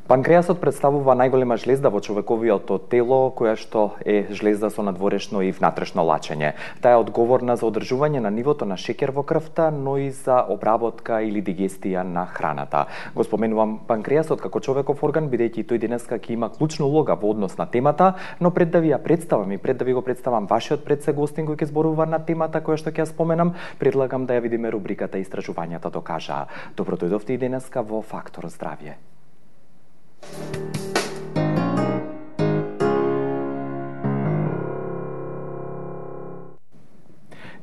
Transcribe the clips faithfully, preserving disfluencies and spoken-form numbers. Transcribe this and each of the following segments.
Панкреасот представува најголема жлезда во човековиот тело, која што е жлезда со надворешно и внатрешно лачење. Таа е одговорна за одржување на нивото на шеќер во крвта, но и за обработка или дигестија на храната. Го споменувам панкреасот како човеков орган, бидејќи тој денеска ќе има клучна улога во однос на темата, но пред да ви ја представам и пред да ви го представам вашиот предсегостин кој ќе зборува на темата која што ќе ја споменам, предлагам да ја видиме рубриката Истражувањата докажаа. Добро дојдовте и денеска во Фактор здравје.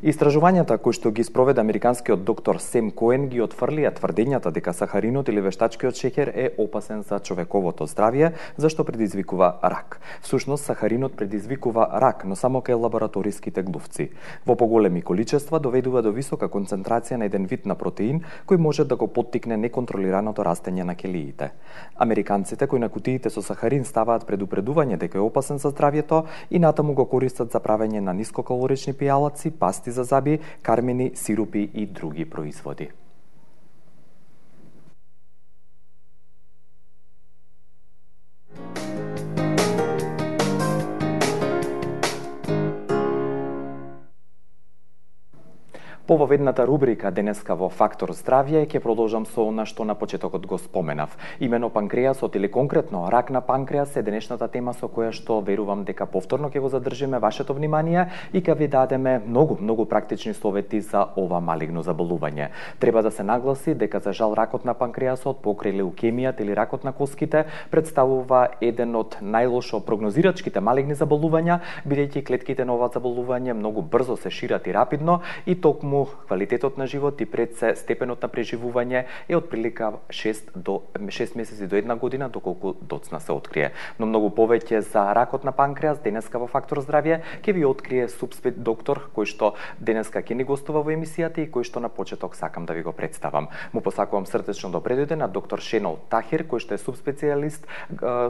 Истражувањата кои што ги спроведе американскиот доктор Сем Коен ги отфрлија тврдењата дека сахаринот или вештачкиот шеќер е опасен за човековото здравје, зашто предизвикува рак. Всушност, сахаринот предизвикува рак, но само кај лабораториските глувци. Во поголеми количества доведува до висока концентрација на еден вид на протеин кој може да го поттикне неконтролираното растење на келиите. Американците кои на кутиите со сахарин ставаат предупредување дека е опасен за здравјето и натаму го користат за правење на нискокалорични пијалаци, пасти за заби, кармини, сирупи и други производи. По воведната рубрика денеска во Фактор здравје ќе продолжам со она што на почетокот го споменав. Имено панкреасот или конкретно рак на панкреас е денешната тема со која што верувам дека повторно ќе го задржиме вашето внимание и ќе ви дадеме многу, многу практични совети за ова малигно заболување. Треба да се нагласи дека за жал ракот на панкреасот покрај леукемијата или ракот на коските представува еден од најлошо прогнозирачките малигни заболувања, бидејќи клетките на ова заболување многу брзо се шират и рапидно и токму квалитетот на живот и пред се степенот на преживување е од прилика шест до шест месеци до една година доколку доцна се открие. Но многу повеќе за ракот на панкреас денеска во Фактор здравје ќе ви открие субспет доктор кој што денеска ќе ни гостува во емисијата и кој што на почеток сакам да ви го представам. Му посакувам срдечно добре дојде на доктор Шенол Тахир кој што е субспецијалист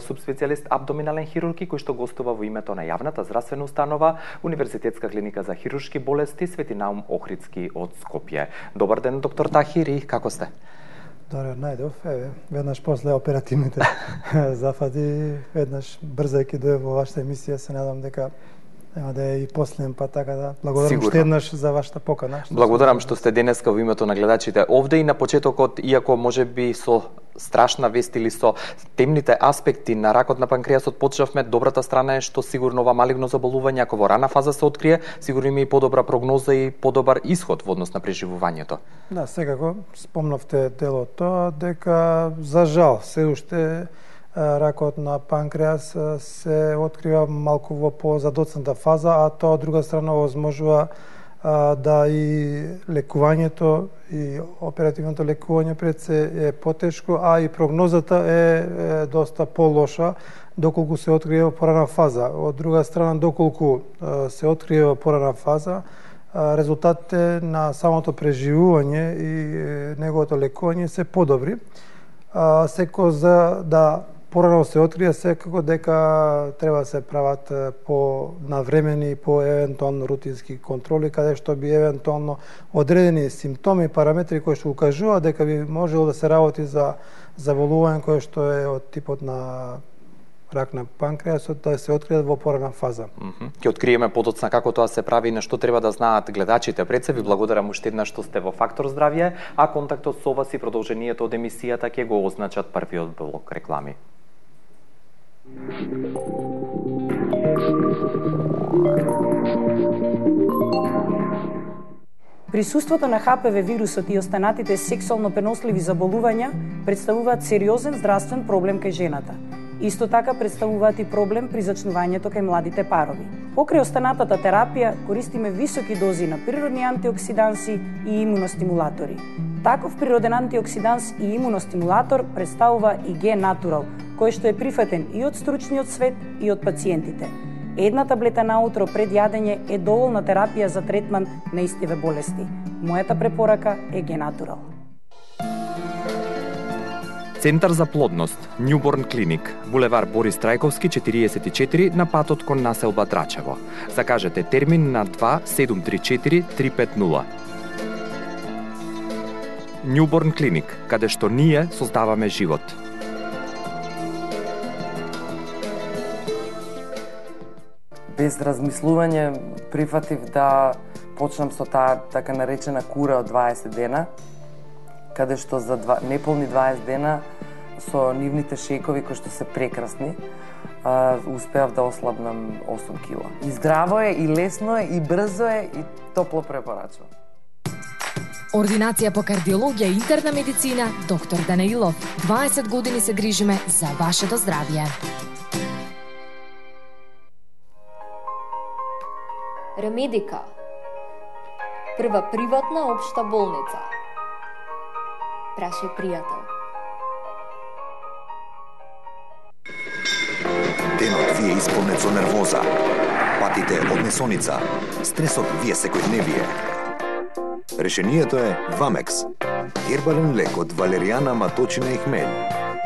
субспецијалист абдоминален хирург кој што гостува во името на јавната здравствена установа Универзитетска клиника за хируршки болести Свети Наум Охридски од Скопје. Добар ден, доктор Тахир, и како сте? Добре, најдов, еве, веднаш после оперативните зафати, веднаш брзајќи дојде во вашата емисија, се надам дека нема да е и последен пат, така да благодарам уште еднаш за вашата покана. Благодарам што сте денеска во името на гледачите овде и на почетокот, иако можеби со страшна вест или со темните аспекти на ракот на панкреасот почнавме, добрата страна е што сигурно ова малигно заболување, ако во рана фаза се открие, сигурно има и подобра прогноза и подобар исход во однос на преживувањето. Да, секако спомнавте делот тоа, дека за жал се уште ракот на панкреас се открива малку во позадоцната фаза, а тоа од друга страна возможува да и лекувањето и оперативното лекување пред се е потешко, а и прогнозата е, е доста полоша доколку се открие во порана фаза. Од друга страна, доколку се открие во порана фаза, резултатите на самото преживување и неговото лекување се подобри. Секако за да порано се открие, секако дека треба да се прават по навремени, по евентуално рутински контроли, каде што би евентуално одредени симптоми и параметри кои што укажуваат дека би можело да се работи за заболување кое што е од типот на рак на панкреасот, да се открие во порана фаза. Mm -hmm. Ќе откриеме подоцна како тоа се прави и на што треба да знаат гледачите. Пред се ви благодарам уште еднаш што сте во Фактор здравје, а контактот со вас и продолжението од емисијата ќе го означат првиот блок реклами. Присуството на Х П В вирусот и останатите сексуално преносливи заболувања представуваат сериозен здравствен проблем кај жената. Исто така представуваат и проблем при зачнувањето кај младите парови. Покрај останатата терапија користиме високи дози на природни антиоксиданси и имуностимулатори. Таков природен антиоксиданс и имуностимулатор представува и Г Натурал, кој што е прифатен и од стручниот свет и од пациентите. Една таблета наутро пред јадење е доволна терапија за третман на истиве болести. Мојата препорака е Г Натурал. Центар за плодност, Newborn Clinic, булевар Борис Трајковски четириесет и четири на патот кон населба Драчево. Закажете термин на два седум три четири три пет нула. Newborn Clinic, каде што ние создаваме живот. без размислување прифатив да почнам со таа така наречена кура од дваесет дена, каде што за два, неполни дваесет дена со нивните шекови кои што се прекрасни, а, успеав да ослабнам осум кила. И здраво е, и лесно е, и брзо е, и топло препорачувам. Ординација по кардиологија и интерна медицина, доктор Данаилов. дваесет години се грижиме за вашето здравје. Ремедика. Прва приватна општа болница. Прашај пријател. Денот ви е исполнет со нервоза. Патите од несоница. Стресот ви е секојдневие. Решението е Вамекс. Хербален лек од валеријана, маточина и хмелј.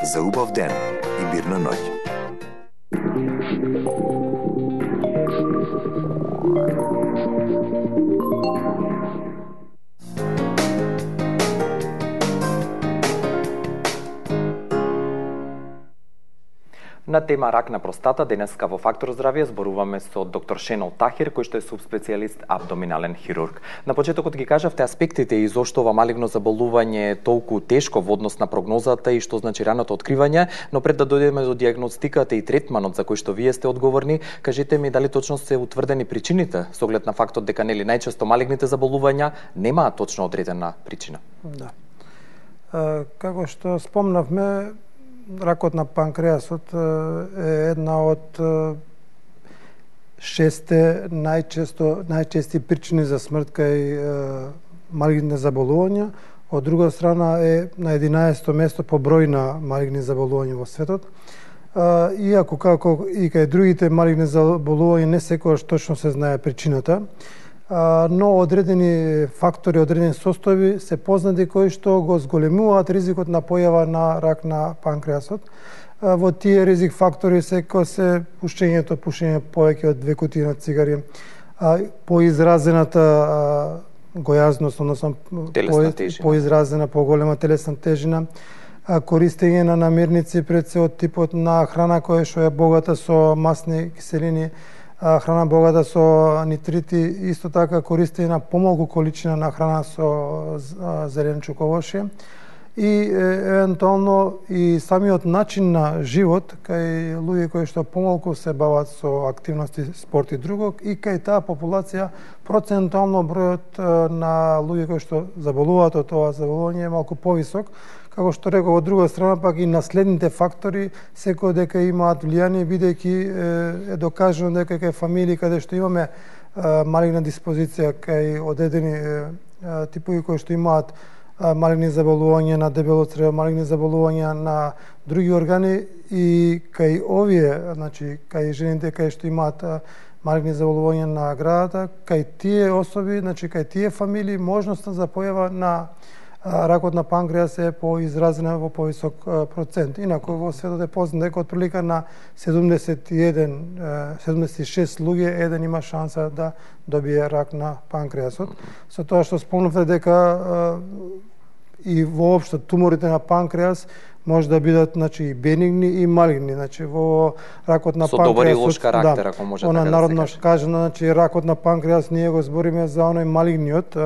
За убав ден и мирна ноќ. На тема рак на простата, денеска во Фактор здравје зборуваме со доктор Шенол Тахир, кој што е субспецијалист абдоминален хирург. На почетокот ги кажавте аспектите и зошто ова малигно заболување е толку тешко во однос на прогнозата и што значи раното откривање, но пред да дојдеме до дијагностиката и третманот за кој што вие сте одговорни, кажете ми дали точно се утврдени причините, со оглед на фактот дека нели најчесто малигните заболувања немаат точно одредена причина. Да. А, како што спомнавме, ракот на панкреасот е една од шесте најчесто најчести причини за смрт кај малигни заболувања. Од друга страна е на единаесетто место по број на малигни заболувања во светот. Иако како и кај другите малигни заболувања не секогаш точно се знае причината, но одредени фактори, одредени состојби се познати кои што го зголемуваат ризикот на појава на рак на панкреасот. Во тие ризик фактори секој се пушењето, пушење повеќе од две кутии на цигари, поизразената гојазност, односно поизразена, поголема телесна тежина, користење на намирници пред се од типот на храна која што е богата со масни киселини, храна богата со нитрити, исто така користење на помалку количина на храна со зеленчук, овошје и евентуално и самиот начин на живот кај луѓе кои што помалку се бават со активности, спорт и друго, и кај таа популација процентуално бројот на луѓе кои што заболуваат од ова заболување е малку повисок. Како што реков, од друга страна пак и наследните фактори секој дека имаат влијание, бидејќи е докажано дека кај фамилии каде што имаме малигна диспозиција кај одредени типови кои што имаат малигни заболувања на дебело црево, малигни заболувања на други органи и кај овие, значи кај жените кај што имаат малигни заболувања на градата, кај тие особи, значи кај тие фамилии можноста за појава на ракот на панкреас е поизразена во повисок процент. Инаку во светот е познато дека отприлика на седумдесет и еден, седумдесет и шест луѓе еден има шанса да добие рак на панкреасот. Со тоа што спомнавте дека и воопшто туморите на панкреас може да бидат, значи, и бенигни и малигни. Значи во ракот на со панкреасот, добар и лош карактер, да, ако може така да се народно каже. кажано, значи ракот на панкреас ние го збориме за оној малигниот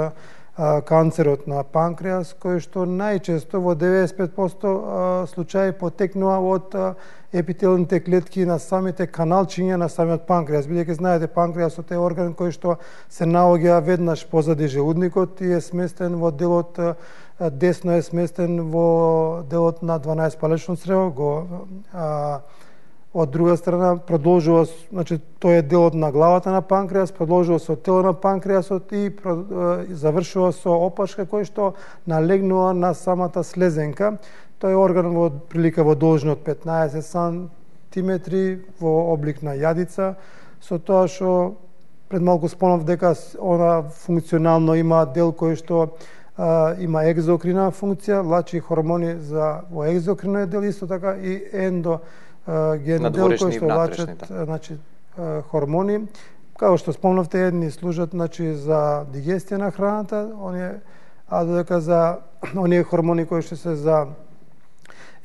канцерот на панкреас, кој што најчесто во деветдесет и пет проценти случаи потекнува од епителните клетки на самите каналчиња на самиот панкреас. Бидејќи знаете, панкреасот е орган кој што се наоѓа веднаш позади желудникот и е сместен во делот десно, е сместен во делот на дванаесет палечно црево, го а, од друга страна продолжува, значи тој е делот на главата на панкреас, продолжува со тело на панкреасот и, и завршува со опашка кој што налегнува на самата слезенка. Тој е орган во прилика во должина од петнаесет сантиметри во облик на јадица, со тоа што пред малку спомнав дека она функционално има дел кој што а, има екзокрина функција, влачи хормони за во екзокриниот дел, исто така и ендо ген дел кој што влачат, значи хормони. Како што спомнавте, едни служат, значи, за дигестија на храната, оние, а додека за оние хормони кои што се за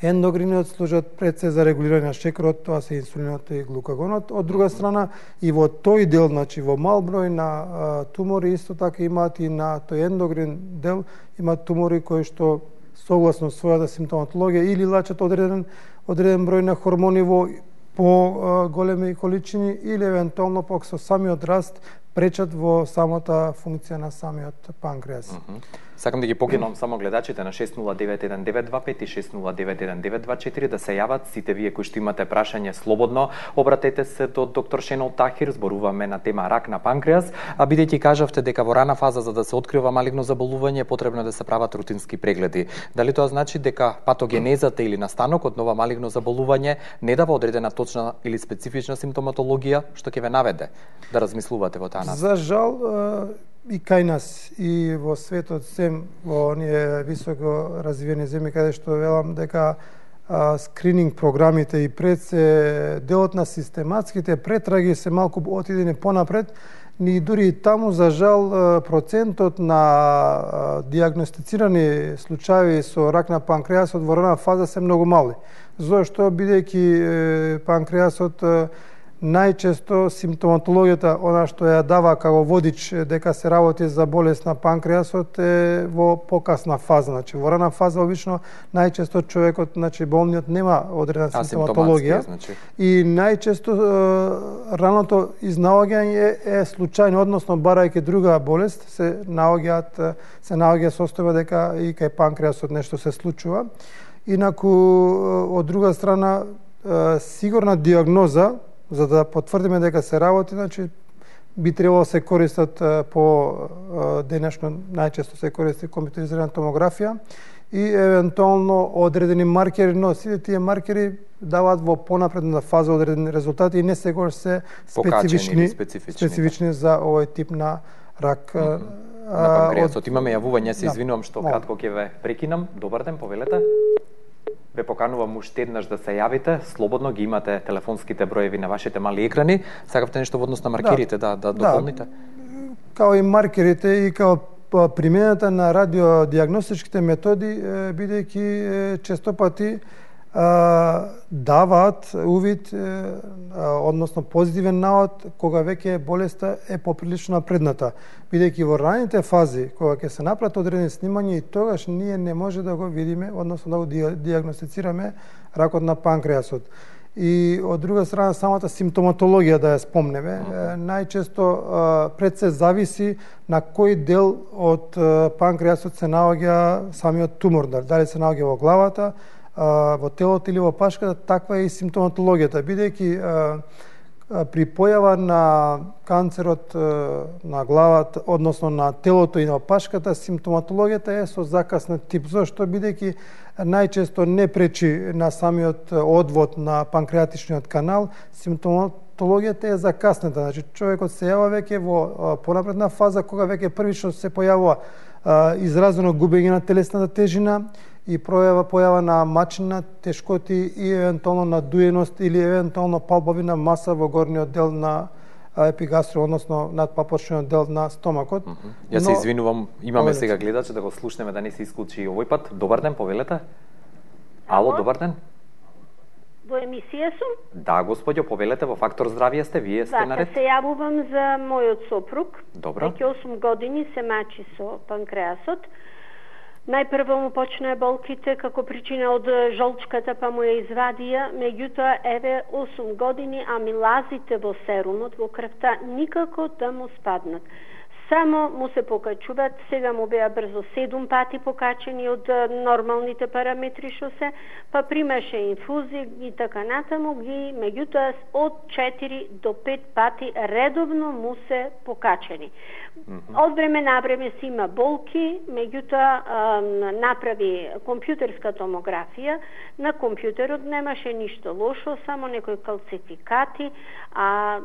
Ендокриниот служат пред се за регулирање на шекерот, тоа се инсулинот и глукагонот. Од друга страна, и во тој дел, значи во мал број на а, тумори, исто така имаат и на тој ендокрин дел, имаат тумори кои што согласно својата симптоматологија или лачат одреден, одреден број на хормони во по големи количини или евентуално пак со самиот раст пречат во самата функција на самиот панкреас. Mm -hmm. Сакам да ги покинам само гледачите на шест нула девет еден девет два пет и шест нула девет еден девет два четири да се јават сите вие кои што имате прашање слободно. Обратете се до доктор Шенол Тахир, зборуваме на тема рак на панкреас, а бидејќи кажавте дека во рана фаза за да се открива малигно заболување е потребно да се прават рутински прегледи. Дали тоа значи дека патогенезата или настанокот на ова малигно заболување не дава одредена точна или специфична симптоматологија што ќе ве наведе да размислувате во таа насока? За жал, и кај нас и во светот, сем во оние високо развиени земји каде што велам дека а, скрининг програмите и пред се делот на систематските претраги се малку отидени понапред, ни дури и таму за жал процентот на а, диагностицирани случаи со рак на панкреасот во рана фаза се многу мали. Зошто бидејќи панкреасот најчесто симптоматологијата, она што ја дава како водич дека се работи за болест на панкреасот е во покасна фаза. Значи, во рана фаза обично најчесто човекот, значи болниот нема одредена симптоматологија, значи. И најчесто е, раното изнаоѓање е случајно, односно барајќи друга болест се наоѓаат се наоѓа состојба дека и кај панкреасот нешто се случува. Инаку од друга страна сигурна диагноза за да потврдиме дека се работи, значи би требало се користат по денешно најчесто се користи компјутеризирана томографија и евентуално одредени маркери, но сите тие маркери даваат во понапредна фаза одредени резултати и не секогаш се специфични, специфични, специфични за овој тип на рак. Mm-hmm. На панкреасот имаме јавување, се извинувам што кратко ќе ве прекинам. Добар ден, повелете. Ве поканувам уште еднаш да се јавите, слободно ги имате телефонските броеви на вашите мали екрани. Сакавте нешто во однос на маркерите да да, да дополните? Да, као и маркерите и као примената на радиодиагностичките методи, бидејќи често пати даваат увид, односно позитивен навод, кога веќе болеста е поприлично напредната. Бидејќи во раните фази, кога ќе се направат одредени снимања, и тогаш ние не може да го видиме, односно да го диагностицираме ракот на панкреасот. И од друга страна, самата симптоматологија да ја спомнеме, најчесто пред се зависи на кој дел од панкреасот се наоѓа самиот тумор, дали се наоѓа во главата, во телото или во пашката, таква е и симптоматологијата, бидејќи при појава на канцерот на главата, односно на телото и на пашката, симптоматологијата е со закаснет тип. Зошто? Бидејќи најчесто не пречи на самиот одвод на панкреатичниот канал, симптоматологијата е закаснета. Значи, човекот се јава веќе во понапредна фаза, кога веќе првично се појавува изразено губење на телесната тежина и пројава појава на мачина, тешкоти и евентуално надуеност или евентуално палпавина маса во горниот дел на епигастро, односно надпапочниот дел на стомакот. Mm -hmm. Јас се извинувам, имаме повелете сега гледачи да го слушнеме да не се исклучи овој пат. Добар ден, повелете. Ало, добар ден. Во емисија сум? Да, господјо, повелете, во Фактор здравје сте, вие сте да, наред. Да, се јавувам за мојот сопруг. Добро. Веќе осум години се мачи со панкреасот. Најпрво му почнаа болките како причина од жолчката, па му ја извадија, меѓутоа еве осум години амилазите во серумот, во крвта, никако да му спаднат. Само му се покачуваат, сега му беа брзо седум пати покачени од нормалните параметри што се, па примаше инфузии и така натаму ги, меѓутоа од четири до пет пати редовно му се покачени. Mm-hmm. Од време на време си има болки, меѓутоа направи компјутерска томографија, на компјутерот немаше ништо лошо, само некои калцификати, а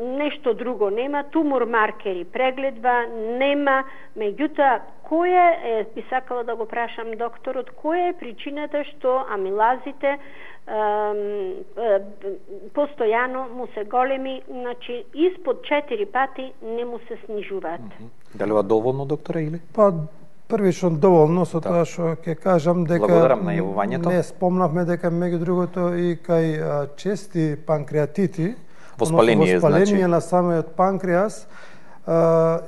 нешто друго нема, тумор маркери преглед нема, меѓутоа која е, би сакала да го прашам докторот, која е причината што амилазите е, е, постојано му се големи, значи испод четири пати не му се снижуваат. Mm-hmm. Дали ова доволно, докторе, или? Па првично доволно со тоа што ќе кажам дека благодарам на јавувањето. Не спомнавме дека меѓу другото и кај чести панкреатити, воспаление, воспаление значи на самиот панкреас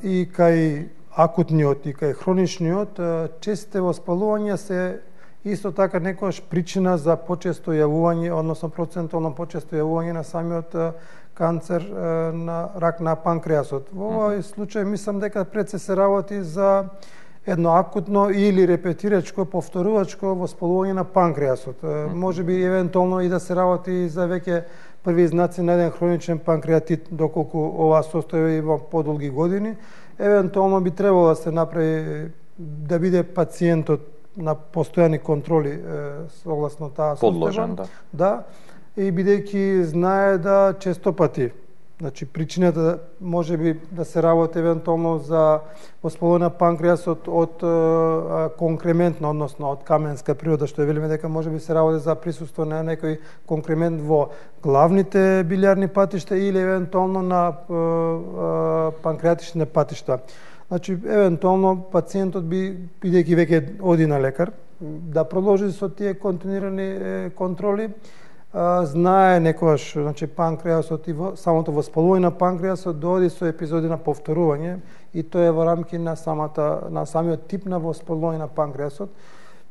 и кај акутниот и кај хроничниот, честите воспалувања се исто така некојаш причина за почесто јавување, односно процентално почесто јавување на самиот канцер на рак на панкреасот. Во овој случај мислам дека пред се се работи за едно акутно или репетирачко, повторувачко воспалување на панкреасот. Може би евентуално и да се работи за веќе први знаци на еден хроничен панкреатит, доколку ова состојба има подолги години. Евентуално би требало да се направи, да биде пациентот на постојани контроли согласно таа состојба. Подложен, да. Да, и бидејќи знае да често пати, значи причината може би да се работи евентуално за воспалување на панкреасот од конкрементна, односно од каменска природа, што велиме дека може би се работи за присуство на некој конкремент во главните билјарни патишта или евентуално на панкреатични патишта. Значи, евентуално пациентот би, бидејќи веќе оди на лекар, да продолжи со тие континуирани контроли, знае некојаш, значи панкреасот и самото воспалување на панкреасот доади со епизоди на повторување и тоа е во рамки на самата на самиот тип на воспалување на панкреасот.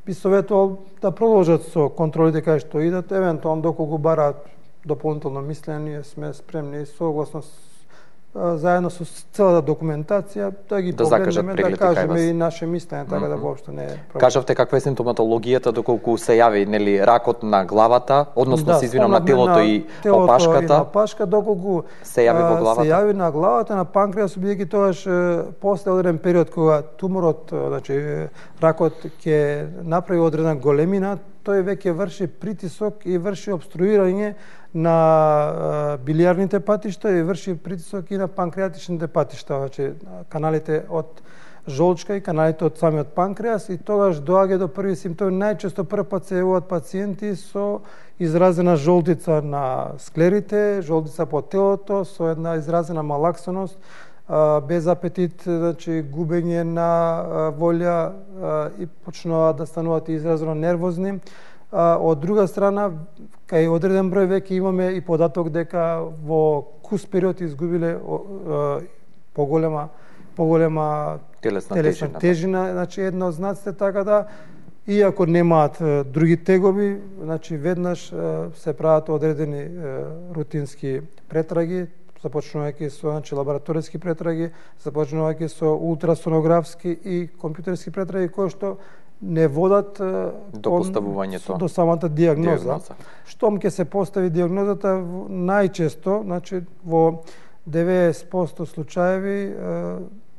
Би советувал да продолжат со контролите кај што идат, евентуално доколку бараат дополнително мислење, ние сме спремни согласно заедно со целата документација да ги да погледнеме, да кажеме и наше мислење, така mm -hmm. да воопшто не е проблем. Кажавте каква е симптоматологијата доколку се јави, нели, ракот на главата, односно да, се извинам на телото на и телото опашката. И на опашка, доколку се јави во главата. Се јави на главата, на панкреасот, бидејќи тогаш после одреден период кога туморот, значи ракот ќе направи одредена големина, тој веќе врши притисок и врши обструирање на билиарните патишта и врши притисок и на панкреатичните патишта, значи каналите од жолчка и каналите од самиот панкреас, и тогаш доаѓа до први симптоми. Најчесто прв пат се јавуваат пациенти со изразена жолтица на склерите, жолтица по телото, со една изразена малаксеност, без апетит, значи губење на волја и почнуваат да стануваат изразено нервозни. Од друга страна, кај одреден број веќе имаме и податок дека во кус период изгубиле поголема поголема телесна, телесна тежина, тежина, значи едно од знаците, така да иако немаат други тегоби, значи веднаш се прават одредени рутински претраги, започнувајќи со, значи, лабораториски претраги, започнувајќи со ултрасонографски и компјутерски претраги, кои што не водат до поставувањето до самата дијагноза. дијагноза. Штом ќе се постави дијагнозата, најчесто, значи во деветдесет проценти случаеви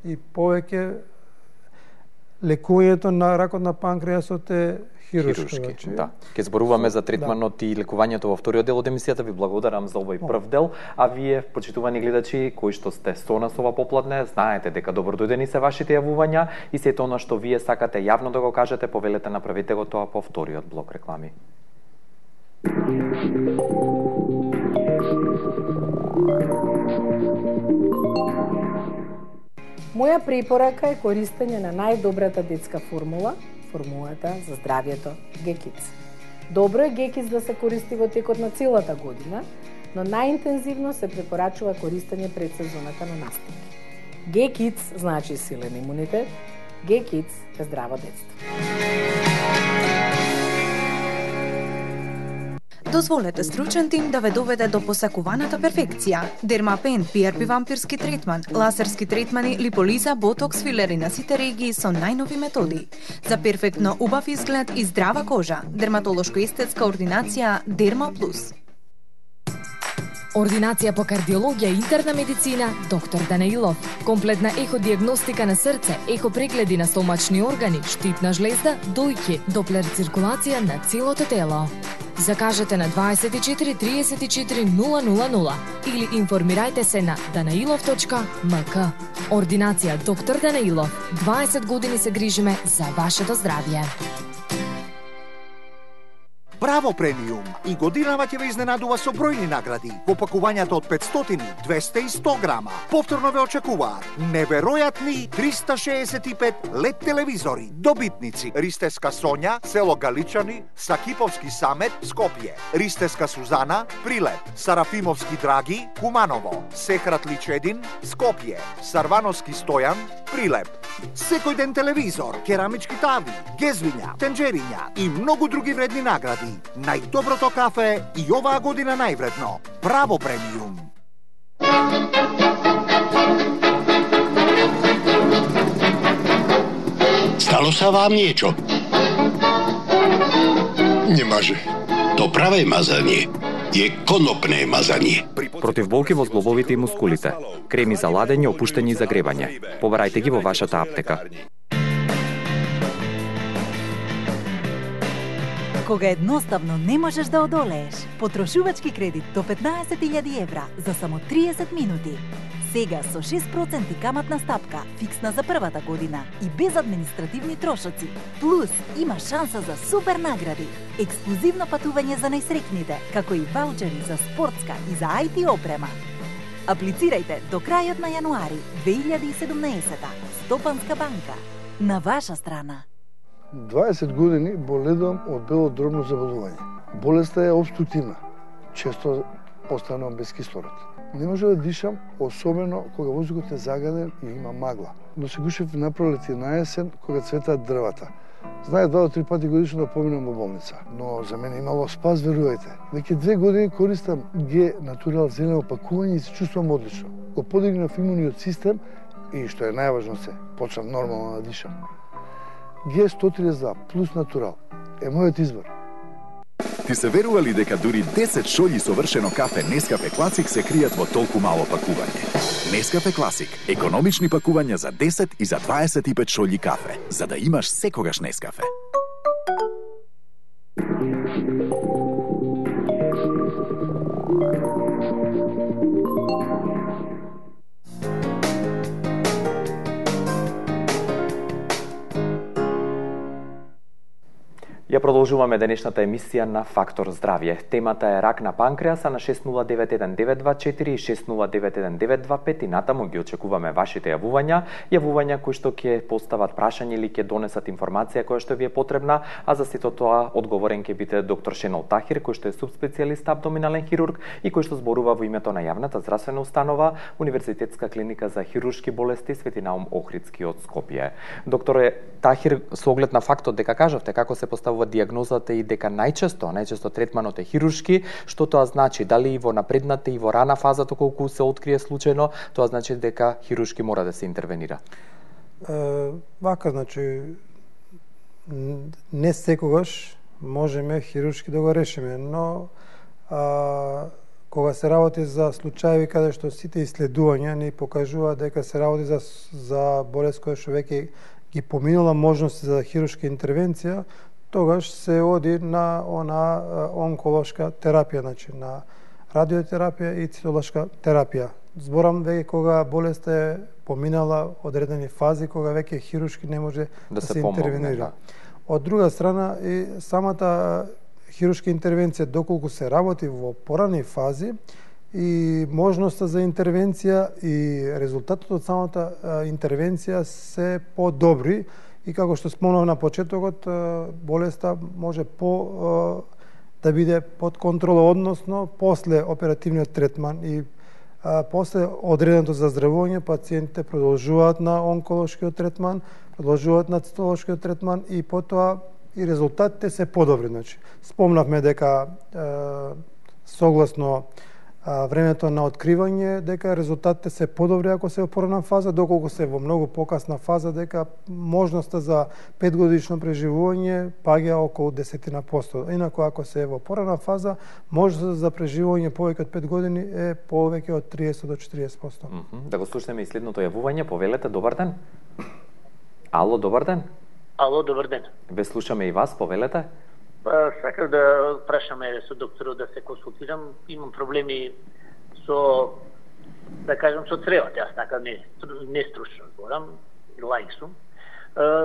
и повеќе, лекувањето на ракот на панкреасот е хируршки. Значи, да. Ке зборуваме за третманот да. и лекувањето во вториот дел од емисијата. Ви благодарам за овој прв дел, а вие, почитувани гледачи, кои што сте со нас ова попладне, знаете дека добродојдени се вашите јавувања и сето она што вие сакате јавно да го кажете, повелете, направете го тоа по вториот блок реклами. Моја препорака е користење на најдобрата детска формула, формулата за здравјето Г-Kids. Добро е Г-Kids да се користи во текот на целата година, но најинтензивно се препорачува користење пред сезоната на настапи. Г-Kids значи силен имунитет, Г-Kids е здраво детство. Дозволете стручен тим да ве доведе до посакуваната перфекција. Дермапен, пи ар пи вампирски третман, лазерски третмани, липолиза, ботокс, филери на сите регии со најнови методи. За перфектно убав изглед и здрава кожа, дерматолошко-естетска ординација Дерма Плюс. Ординација по кардиологија и интерна медицина доктор Данаилов. Комплетна еходиагностика на срце, ехопрегледи на стомачни органи, штипна жлезда, дојки, доплер циркулација на целото тело. Закажете на дваесет и четири триесет и четири нула нула нула или информирајте се на данаилов точка ем ка. Ординација доктор Данаилов. дваесет години се грижиме за вашето здравје. Браво премиум! И годинава ќе ве изненадува со бројни награди во пакувањата од петстотини, двесте и сто грама. Повторно ве очекуваат неверојатни триста шеесет и пет лед телевизори. Добитници: Ристеска Сонја, село Галичани, Сакиповски Самет, Скопје; Ристеска Сузана, Прилеп; Сарафимовски Драги, Куманово; Сехрат Личедин, Скопје; Сарвановски Стојан, Прилеп. Секој ден телевизор, керамички тави, гезвиња, тенџериња и многу други вредни награди. Најдоброто кафе и оваа година највредно. Браво премиум! Стало са вам niečo? Не може. То праве мазање е конопне мазање. Против болки во зглобовите и мускулите. Креми за ладење, опуштање и загревање. Побарајте ги во вашата аптека. Кога едноставно не можеш да одолееш, потрошувачки кредит до петнаесет илјади евра за само триесет минути. Сега со шест проценти каматна стапка, фиксна за првата година и без административни трошоци. Плюс има шанса за супер награди, ексклузивно патување за најсрекните, како и ваучери за спортска и за ай ти опрема. Аплицирајте до крајот на јануари две илјади и седумнаесета. Стопанска банка. На ваша страна. дваесет години боледувам од бело дробно заболување. Болеста е обструктивна. Често останувам без кислород. Не може да дишам, особено кога воздухот е загаден и има магла. Но се гушев на пролет и на есен, кога цветаат дрвата. Знае два до три пати годишно да поминам во болница. Но за мене имало спас, верувајте. Веќе две години користам Г Натурал зелено пакување и се чувствувам одлично. Го подигнав имуниот систем и, што е најважно се, почнав нормално да дишам. Г сто триесет два плюс Натурал е мојот избор. Ти се верували дека дури десет шолји совршено кафе Нескафе Класик се кријат во толку мало пакување? Нескафе Класик, економични пакувања за десет и за дваесет и пет шолји кафе, за да имаш секогаш Нескафе. Ја продолжуваме денешната емисија на Фактор здравје. Темата е рак на панкреаса на шест нула девет еден девет два четири и шест нула девет еден девет два пет и натаму ги очекуваме вашите јавувања, јавувања кои што ќе постават прашање или ќе донесат информација која што ви е потребна, а за сето тоа одговорен ќе биде доктор Шенол Тахир, кој што е субспецијалист абдоминален хирург и кој што зборува во името на јавната здравствена установа Универзитетска клиника за хируршки болести Свети Наум Охридски од Скопје. Докторе Тахир, со оглед на фактот дека кажавте како се поставува дијагнозата и дека најчесто, најчесто третманот е хируршки, што тоа значи? Дали и во напредната и во рана фаза колку се открие случајно, тоа значи дека хируршки мора да се интервенира? Е, вака, значи, не секогаш можеме хируршки да го решиме, но а, кога се работи за случаи каде што сите исследувања ни покажува дека се работи за, за болест која што веќе ги поминала можности за хируршка интервенција, тогаш се оди на она онколошка терапија, значи на радиотерапија и цитолошка терапија. Зборам веќе кога болеста е поминала одредени фази, кога веќе хируршки не може да, да се, се интервенира. Да. Од друга страна и самата хируршка интервенција, доколку се работи во порани фази, и можноста за интервенција и резултатот од самата интервенција се подобри и како што спомнав на почетокот, болеста може по да биде под контрола, односно после оперативниот третман и а, после одреденото заздравување пациентите продолжуваат на онколошкиот третман, продолжуваат на цитолошкиот третман и потоа и резултатите се подобри. Значи, спомнавме дека е, согласно а, времето на откривање, дека резултатите се подобри ако се во порана фаза, доколку се во многу покасна фаза, дека можноста за петгодишно преживување паѓа околу десет на сто. Инаку ако се во порана фаза, можноста за преживување повеќе од пет години е повеќе од триесет до четириесет на сто. Mm -hmm. Да го слушнеме и следното јавување. Повелете, добар ден. Ало, добар ден. Ало, добар ден. Ве слушаме и вас, повелете. Сакав да прашаме со докторот да се консултирам. Имам проблеми со, да кажам, со цревот. Јас така не, не стручно зборам, лаик сум.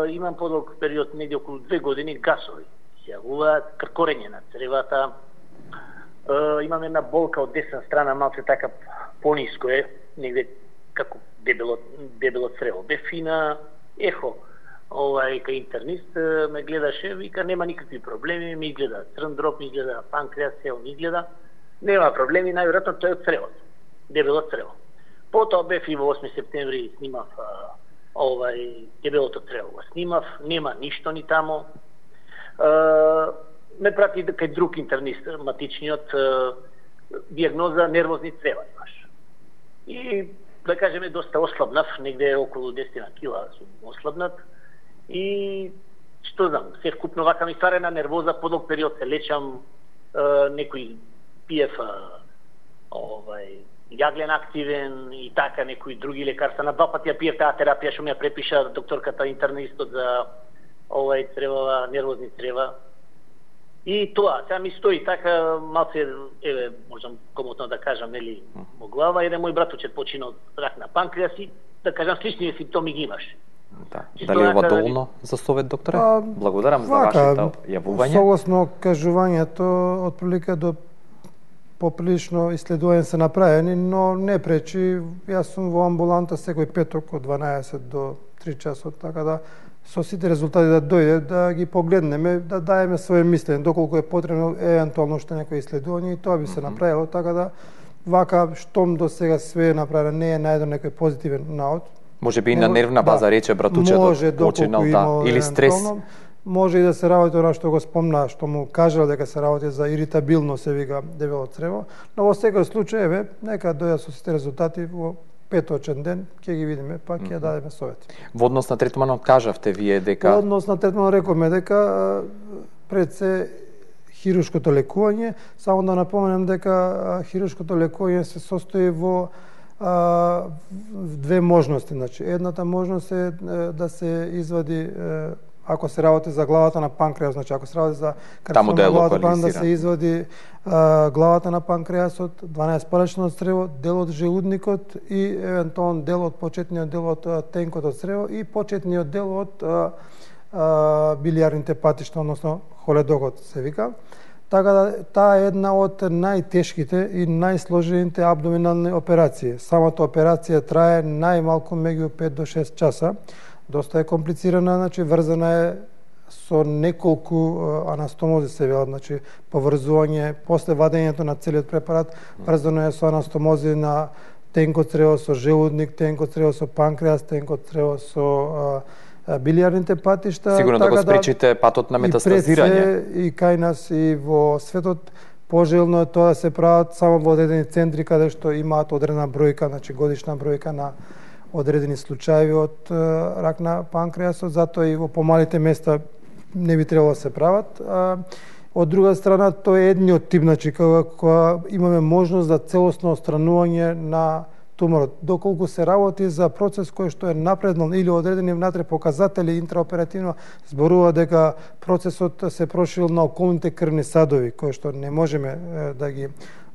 Имам подолг период, негде околу две години, гасови се јавуваат, кркорење на цревата, е, имам една болка од десна страна, малце така пониско е, негде како дебело, дебело црево. Бе фина, ехо, овај, кај интернист ме гледаше, вика, нема никакви проблеми, ми изгледа црн дроб, ми изгледа панкреас, сел ми изгледа, нема проблеми, најверојатно тој од цревото, дебело црево. Потоа бев и во осми септември снимав а, овај дебелото црево, го снимав, нема ништо ни тамо. А, ме прати кај друг интернист, матичниот, а, диагноза нервозни црева имаш. И да кажеме доста ослабнав, негде околу десет кила сум ослабнат. И што знам, се вкупно вака ми стварена нервоза, подолг период се лечам, е, некој пиев овај јаглен активен и така некои други лекарства. На два пати ја пиев таа терапија што ми ја препиша докторката интернистот за овај цревова, нервозни црева. И тоа, сега ми стои така малце, еве, можам комотно да кажам, нели, во глава, еден мој братучет почина од рак на панкреас и, да кажам, слични симптоми ги имаш. Да. Дали ова доволно за совет, докторе? А, Благодарам за вака, вашето јавување. Согласно кажувањето, отприлика до поприлично исследувања се направени, но не пречи. Јас сум во амбуланта секој петок од дванаесет до три часот, така да со сите резултати да дојде, да ги погледнеме, да даеме своје мислење, доколку е потребно евентуално што некој исследување, и тоа би се направило, така да вака штом до сега све е направено, не е најден некој позитивен наод. Може би и на нервна база, да, рече братучето, починал, да, или стрес. Може и да се работи она што го спомна, што му кажал дека се работи за иритабилно, се вика дебело црево, но во секој случај, еве, нека дојдат со сите резултати во петочен ден, ќе ги видиме, па ќе mm-hmm. дадеме совет. Во однос на третманот кажавте вие дека... Во однос на третманот рековме дека пред се хируршкото лекување, само да напоменем дека хируршкото лекување се состои во а, две можности. Значи, едната можност е да се извади, ако се работи за главата на панкреас, значи ако се работи за карцином на главата, да се извади а, главата на панкреасот, дванаесет-палечното црево, дел од желудникот и евентуално дел од почетниот дел од тенкот од црево и почетниот дел од а, а, билиарните патишта, односно холедокот се вика. Така да таа е една од најтешките и најсложените абдоминални операции. Самата операција трае најмалку меѓу пет до шест часа. Доста е комплицирана, значи врзана е со неколку анастомози се велат, значи поврзување после вадењето на целиот препарат, врзано е со анастомози на тенкот црево, со желудник, тенкот црево, со панкреас, тенкот црево, со билиарните патишта. Сигурно така да го спречите патот на метастазирање. И, и кај нас и во светот пожелно е тоа да се прават само во одредени центри каде што имаат одредена бројка, значи годишна бројка на одредени случаи од рак на панкреасот, затоа и во помалите места не би требало да се прават. Од друга страна, тоа е едниот тип, значи кога, кога имаме можност за целосно отстранување на туморот. Доколку се работи за процес кој што е напреднал или одредени внатре показатели интраоперативно, зборува дека процесот се проширил на околните крвни садови, кои што не можеме да ги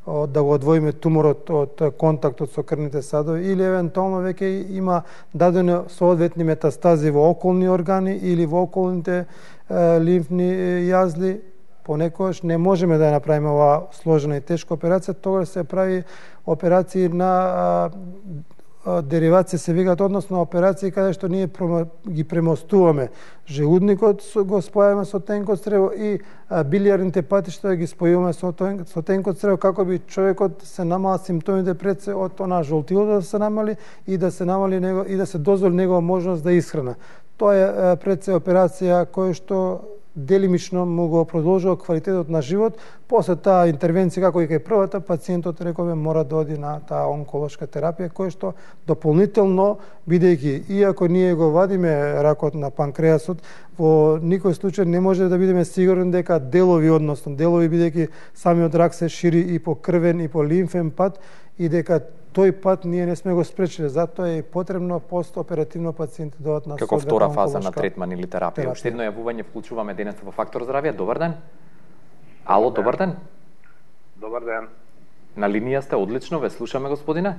да го одвоиме туморот од контактот со крвните садови, или евентуално веќе има дадени соодветни метастази во околни органи или во околните е, лимфни јазли, понекогаш не можеме да ја направиме оваа сложена и тешка операција, тогаш се прави операции на а, а, деривација се викаат, односно операции каде што ние ги премостуваме желудникот, го спојаме со тенкот црево и а, билиарните патишта ги спојуваме со, со тенкот црево, како би човекот се намала симптомите пред се од она жолтилото да се намали и да се намали него и да се дозволи негова можност да исхрана. Тоа е а, пред се операција која што делимично му го продолжува квалитетот на живот. После таа интервенција, како и кај првата, пациентот, рекове, мора да оди на таа онколошка терапија, која што дополнително, бидејќи, иако ние го вадиме ракот на панкреасот, во никој случај не може да бидеме сигурни дека делови, односно делови, бидејќи самиот рак се шири и по крвен и по лимфен пат, и дека тој пат ние не сме го спречиле, затоа е потребно постоперативно пациенти дојдат на како втора фаза на третман или терапија. Уште едно јавување вклучуваме денес во Фактор здравје. Добар ден. Ало, добар ден. Добар ден. На линија сте, одлично, ве слушаме, господине.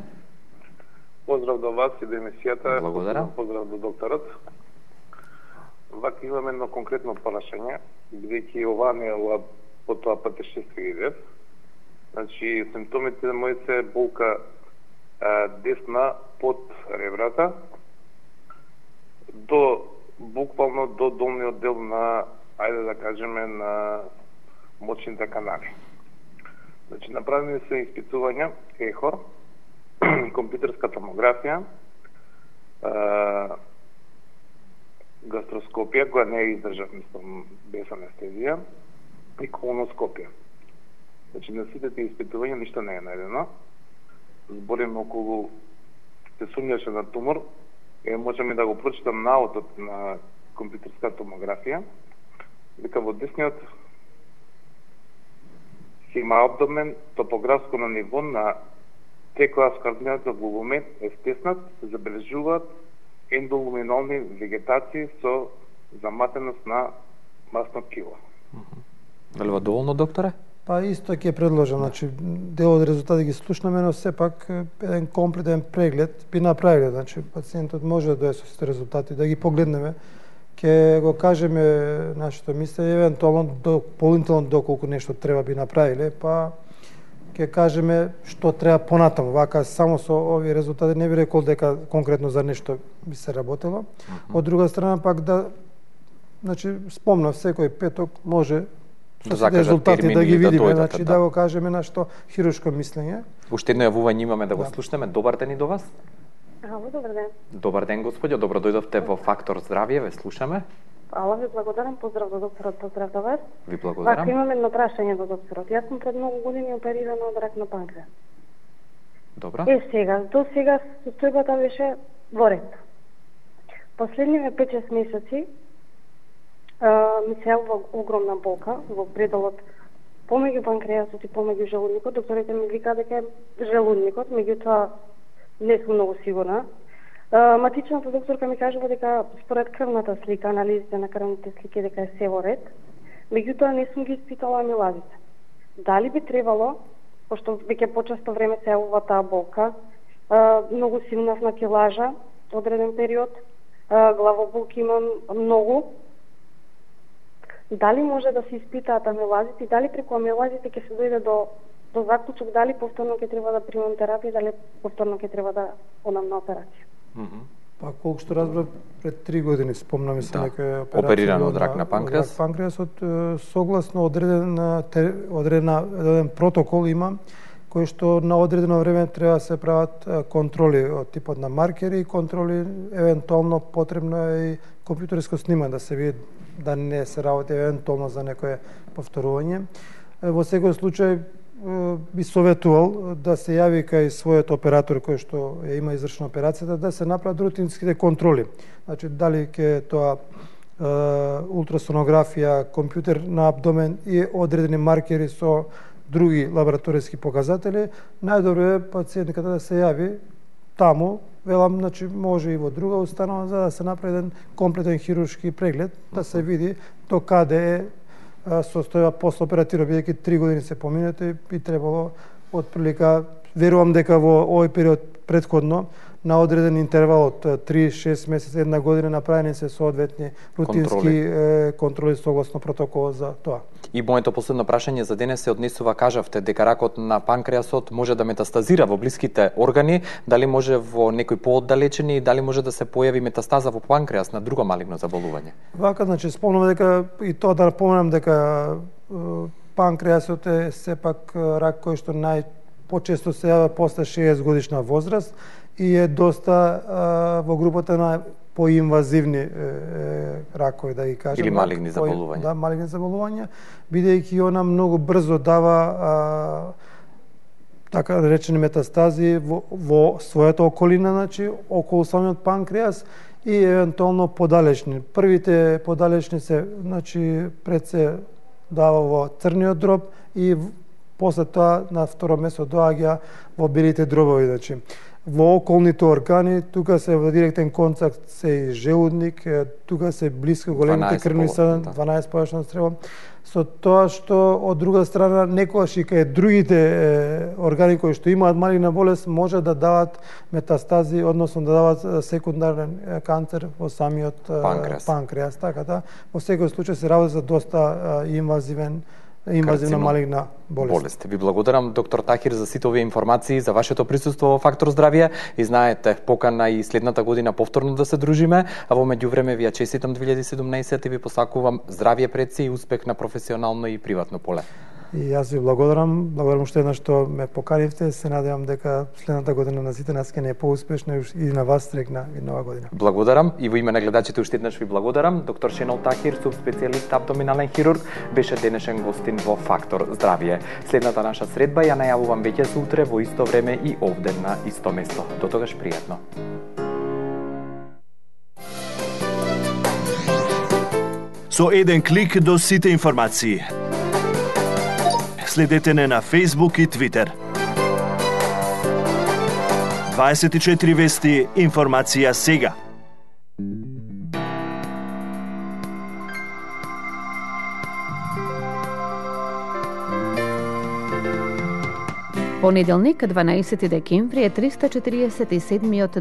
Поздрав до вас и до емисијата. Благодарам. Поздрав до докторот. Вака имаме едно конкретно прашање, бидејќи ова не е по тоа патешествие идев. Значи, симптомите мои се болка а, десна под ребрата, до буквално до долниот дел на, ајде да кажеме, на мочните канали. Значи, направени се испитувања, ехо, компјутерска томографија, а, гастроскопија, која не е издржав, мислам, без анестезија, и колоноскопија. Значи, на сите тие испитувања ништо не е најдено. Збориме околу, се сумњаше на тумор, е, можеме да го прочитам наотот на компјутерска томографија, дека во десниот има абдомен, топографско на ниво на Т-клас волумен е стеснат, се забележуваат ендолуминални вегетации со заматеност на масно ткиво. Велува доволно, докторе? Па исто ќе предложам, значи дел од резултати ги слушнаме, но сепак еден комплетен преглед би направиле, значи пациентот може да дое со сите резултати, да ги погледнеме, ќе го кажеме нашето мислење, евентуално дополнително доколку нешто треба би направиле, па ќе кажеме што треба понатаму. Вака само со овие резултати не би рекол дека конкретно за нешто би се работело. Mm-hmm. Од друга страна пак да, значи спомнав секој петок може со да резултати да ги видиме, да значи да. да го кажеме нашто хируршко мислење. Уште едно јавување имаме да го да. слушнеме. Добар ден и до вас. Ало, добар ден. Добар ден, господјо. Добро дојдовте во Фактор здравје, ве слушаме. Ала, ви благодарам, поздрав до докторот, поздрав до вас. Ви благодарам. Вака имам едно прашање до докторот. Јас сум пред многу години оперирана од рак на панкреас. Добро. Е, сега, до сега состојбата беше во ред. Последниве пет-шест месеци а, ми се јавува огромна болка во пределот помеѓу панкреасот и помеѓу желудникот. Докторите ми вика дека е желудникот, меѓутоа не сум многу сигурна. Uh, матичната докторка ми кажува дека според крвната слика, анализите на крвните слики, дека е се во ред. Меѓутоа не сум ги испитала амилазите. Дали би требало, пошто веќе почесто време се јавува таа болка, uh, многу силна на килажа, одреден период, uh, главоболки имам многу. Дали може да се испитаат амилазите и дали преку амилазите ќе се дојде до до заклучок дали повторно ќе треба да примам терапија, дали повторно ќе треба да одам на операција. Mm-hmm. Па колку што разбрав, пред три години спомнаме се да. некоја операција опериран од рак на панкреас. Рак панкреасот согласно одреден одредена одреден протокол има кој што на одредено време треба да се прават контроли од типот на маркери и контроли, евентуално потребно е и компјутерско снимање да се види да не се работи евентуално за некое повторување. Во секој случај би советувал да се јави кај својот оператор кој што ја има извршена операцијата да се направат рутинските контроли. Значи дали ќе тоа е, ултрасонографија, компјутер на абдомен и одредени маркери со други лабораториски показатели, најдобро е пациентиката да се јави таму, велам, значи може и во друга установа за да се направи еден комплетен хируршки преглед, да се види до каде е состојба постоперативно, бидејќи три години се поминете, би требало отприлика, верувам дека во овој период претходно на одреден интервал од три-шест месеци, една година направени се соодветни рутински контроли, контроли согласно протоколот за тоа. И моето последно прашање за денес се однесува, кажавте дека ракот на панкреасот може да метастазира во блиските органи, дали може во некои пооддалечени и дали може да се појави метастаза во панкреас на друго малигно заболување? Вака, значи, спомнам дека и тоа да напоменам дека панкреасот е сепак рак кој што нај почесто се јавува после шеесет годишна возраст и е доста а, во групата на поинвазивни е, е, ракови, да ги кажем. Или малигни заболувања. Да, малигни заболувања, бидејќи она многу брзо дава а, така речени метастази во, во својата околина, значи околу самиот панкреас и евентуално подалечни. Првите подалечни се, значи пред се дава во црниот дроб и после тоа на второ место доаѓа во белите дробови, значи. во околните органи, тука се во директен контакт се и желудник, тука се блиско големите крвни садини, дванаесет површно стрево. Со тоа што од друга страна некогаш и кај другите е, органи кои што имаат малигна болест може да дават метастази, односно да дават секундарен канцер во самиот панкреас. панкреас. Така да, во секој случај се работи за доста инвазивен инвазивна малигна болест. болест. Ви благодарам, доктор Тахир, за сите овие информации, за вашето присуство во Фактор здравје. И знаете, покана и следната година повторно да се дружиме, а во меѓувреме ви ја честитам две илјади и седумнаесета и ви посакувам здравје пред се и успех на професионално и приватно поле. И јас ви благодарам, благодарам уште еднаш што ме поканивте, се надевам дека следната година на сите нас ќе не е поуспешна и на вас стрекна и нова година. Благодарам и во име на гледачите уште еднаш ви благодарам. Доктор Шенол Тахир, субспецијалист абдоминален хирург, беше денешен гостин во Фактор здравје. Следната наша средба ја најавувам веќе за утре во исто време и овде на исто место. До тогаш пријатно. Со еден клик до сите информации. Следете не на Facebook и Twitter. дваесет и четири вести, информација сега. Понеделник, дванаесети декември е триста четириесет и седмиот